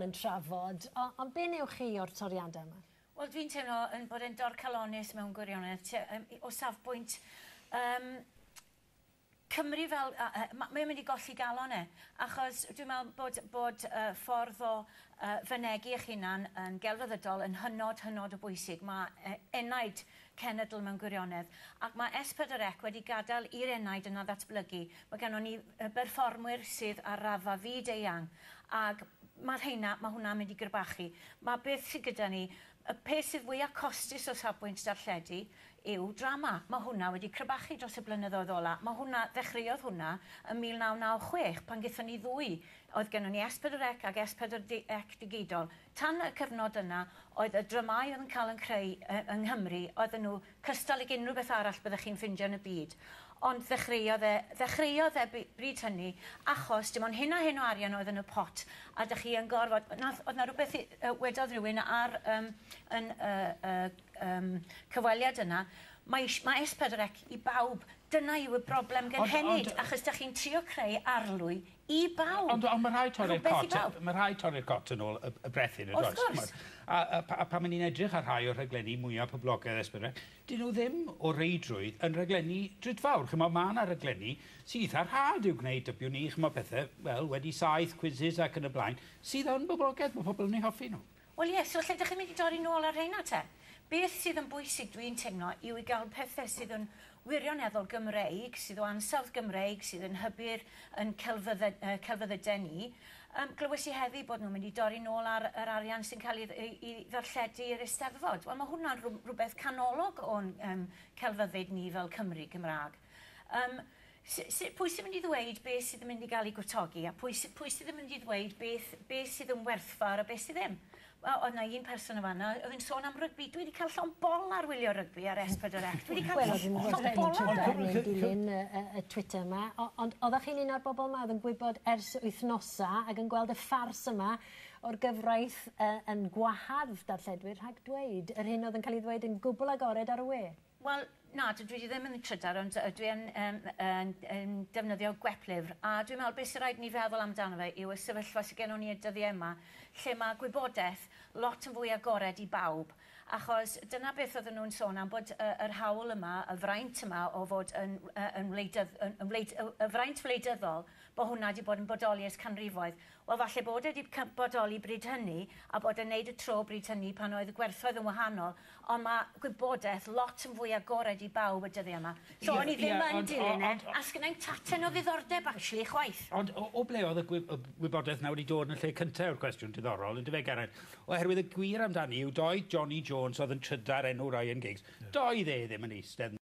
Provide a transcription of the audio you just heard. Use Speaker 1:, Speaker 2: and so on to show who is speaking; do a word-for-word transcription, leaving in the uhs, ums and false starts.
Speaker 1: yn trafod, ond be newch chi o'r toriadau yma?
Speaker 2: Wel, dwi'n teimlo yn bod e'n dorcalonnus mewn gwirionedd, o safbwynt um, Cymru fel, uh, mae'n mynd i golli galon e, achos dwi'n meddwl bod, bod uh, ffordd o uh, fynegi eich hunan yn gelfyddydol yn hynod, hynod o bwysig. Mae uh, enaid cenedl mewn gwirionedd, ac mae S pedwar C wedi gadael i'r enaid yna ddatblygu. Mae gennon ni berfformwyr sydd ar raddfa fyd eang, ac mae'r rheina, mae hwnna'n mynd i grybachu. Mae beth sydd gyda ni, y peth sydd fwyaf costus o safbwynt darlledu yw drama. Mae hwnna wedi crybachu dros y blynyddoedd ola. Mae hwnna, ddechreuodd hwnna ym mil naw naw chwech pan gaethon ni ddwy. Oedd gennon ni S pedwar C ac S pedwar C digidol. Tan y cyfnod yna, oedd y dramau oedd yn cael yn creu yng Nghymru, oedden nhw cystal ag unrhyw beth arall byddech chi'n ffindio yn y byd. Ond ddechreuodd e, ddechreuodd e bryd hynny, achos dim ond hyn a hyn o arian oedd yn y pot, a dych chi yn gorfod, nath, oedd na rhywbeth wedodd rhywun ar um, yn, uh, uh, um, cyfweliad yna, mae, mae S pedwar C i bawb. Dyna yw y broblem gynhenid, achos dych chi'n trio creu arlwy i bawb.
Speaker 3: Ond, ond mae rhaid torri'r cot, mae rhaid torri'r cot yn ôl y, y brethyn, yn
Speaker 2: Wrth gwrs.
Speaker 3: A, a, a pan ni'n edrych ar rhai o'r rhaglenni mwyaf poblogaidd S pedwar C, dyn nhw ddim o reidrwydd yn rhaglenni drudfawr. Chymod, mae yna rhaglenni sydd eitha rhad i'w gwneud, dybiwn ni, chymod pethau, wel, wedi saith quizzes ac yn y blaen, sydd yn boblogaidd, mae pobl yn eu hoffi nhw.
Speaker 2: Wel ie, so lle ydych chi'n mynd i dorri nôl ar rheina te? Beth sydd yn bwysig dwi'n teimlo yw i gael pethau sydd yn wirioneddol Gymreig, sydd o ansawdd Gymreig, sydd yn hybu'r yn celfyddyd, uh, celfyddydau ni. Um, glywes i heddi bod nhw'n mynd i dorri nôl ar yr arian sy'n cael ei, ei, ei ddarlledu i'r Eisteddfod. Wel, mae hwnna'n rhywbeth canolog o'n um, celfyddyd ni fel Cymru Gymraeg. Um, pwy sy'n mynd i ddweud beth sydd yn mynd i gael ei gwtogi a pwy, pwy sydd yn mynd i ddweud beth, beth sydd yn werthfawr a beth sydd ddim? Wel, oedd na un person yma, oedd yn sôn am rygbi. Dwi wedi cael llond bol ar wylio rygbi ar S pedwar C. Dwi wedi cael llond bol ar
Speaker 1: e. Wel, dilyn y, y Twitter yma, ond oeddech chi'n un o'r bobl yma oedd yn gwybod ers wythnosa ac yn gweld y ffars yma o'r gyfraith uh, yn gwahardd darlledwyr rhag dweud yr hyn oedd yn cael ei ddweud yn gwbl agored ar y we?
Speaker 2: Wel, na, dwi ddim yn trydar, ond dwi yn, um, yn, yn defnyddio gweplyfr. A dwi'n meddwl beth sy'n rhaid ni feddwl amdano fe yw y sefyllfa sydd gennon ni y dyddiau yma, lle mae gwybodaeth lot yn fwy agored i bawb. Achos dyna beth oedden nhw'n sôn am, bod uh, yr hawl yma, y fraint yma o fod yn, yn, wleidydd, yn, yn wleid, y fraint wleidyddol, bod hwnna wedi bod yn bodoli ers canrifoedd. Wel, falle bod e wedi bodoli bryd hynny, a bod e'n neud y tro bryd hynny pan oedd y gwerthoedd yn wahanol, ond mae gwybodaeth lot yn fwy agored i bawb y dyddiau yma. So, yeah, o'n i ddim yeah, yn dilyn e, a sgynnai'm taten o ddiddordeb, actually, chwaith.
Speaker 3: Ond o, o ble oedd y gwybodaeth na wedi dod yn y lle cyntaf o'r cwestiwn diddorol, yn dyfe, Geraint? Oherwydd y gwir amdani yw doedd Johnny Jones oedd yn trydar enw Ryan Giggs, yeah. Doedd e ddim yn eistedd